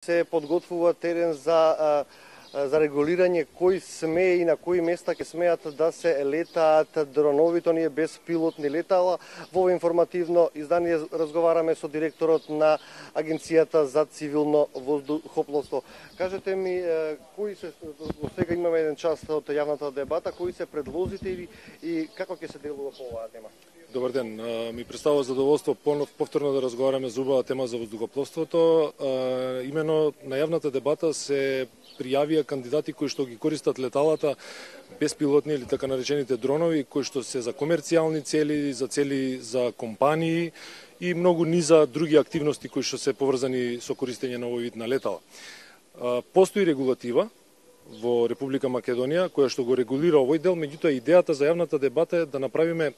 Се подготвува терен за регулирање кои смее и на кои места ќе смеат да се летаат дронови, тоа не е беспилотни летала. Во информативно издание разговараме со директорот на Агенцијата за цивилно воздухопловство. Кажете ми, кои се, сега имаме еден час од јавната дебата, кои се предлозите и како ќе се делува по оваа тема? Добар ден, ми представува задоволство повторно да разговараме за убава тема за воздухопловството. Имено на јавната дебата се пријавија кандидати кои што ги користат леталата беспилотни или така наречените дронови, кои што се за комерцијални цели за компании и многу низа други активности кои што се поврзани со користење на овој вид на летала. Постои регулатива во Република Македонија која што го регулира овој дел, меѓутоа идејата за јавната дебата е да направиме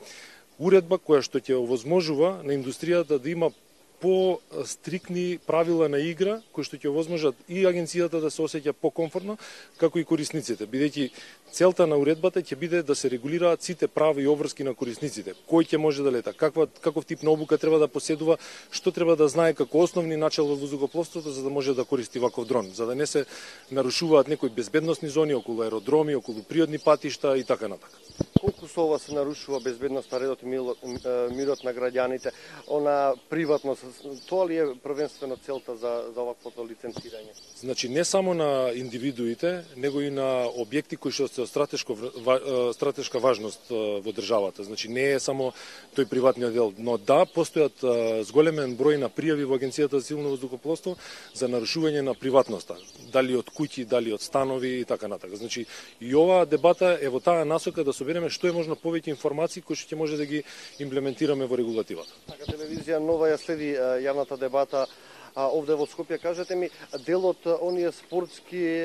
уредба која што ќе овозможува на индустријата да има по-стрикни правила на игра, кои што ќе овозможат и агенцијата да се осеќа покомфортно, како и корисниците, бидејќи целта на уредбата ќе биде да се регулираат сите права и обврски на корисниците. Кој ќе може да лета, каков тип на обука треба да поседува, што треба да знае како основни начал во воздухопловството за да може да користи ваков дрон, за да не се нарушуваат некои безбедносни зони околу аеродроми, околу природни патишта и така натака. Колку со ова се нарушува безбедноста, редот и мирот на граѓаните, она приватност, тоа ли е првенствено целта за оваквото лиценцирање? Значи не само на индивидуите, него и на објекти кои што се од стратешка важност во државата. Значи не е само тој приватниот дел, но да постојат зголемен број на пријави во Агенцијата за цивилно воздухопловство за нарушување на приватноста, дали од куќи, дали од станови и така натака. Значи и оваа дебата е во таа насока да собереме што е можно повеќе информации кои што ќе може да ги имплементираме во регулативата. Така телевизија Нова ја следи јавната дебата овде во Скопје. Кажете ми, дел од оние спортски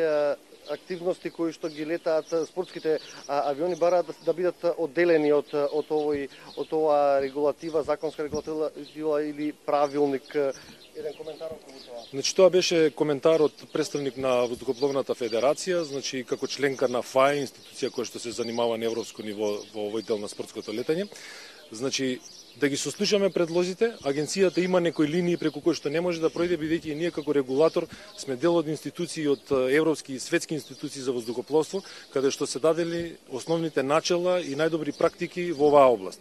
активности кои што ги летаат спортските авиони бараат да бидат одделени од оваа регулатива, законска регулатива или правилник. Еден коментар околу тоа. Значи тоа беше коментар од представник на Воздухопловната федерација, значи како членка на ФАЕ, институција која што се занимава на европско ниво во овој дел на спортското летање. Значи да ги сослушаме предлозите, агенцијата има некои линии преку кои што не може да пројде, бидејќи ние како регулатор сме дел од институции, од европски и светски институции за воздухопловство, каде што се дадели основните начела и најдобри практики во оваа област.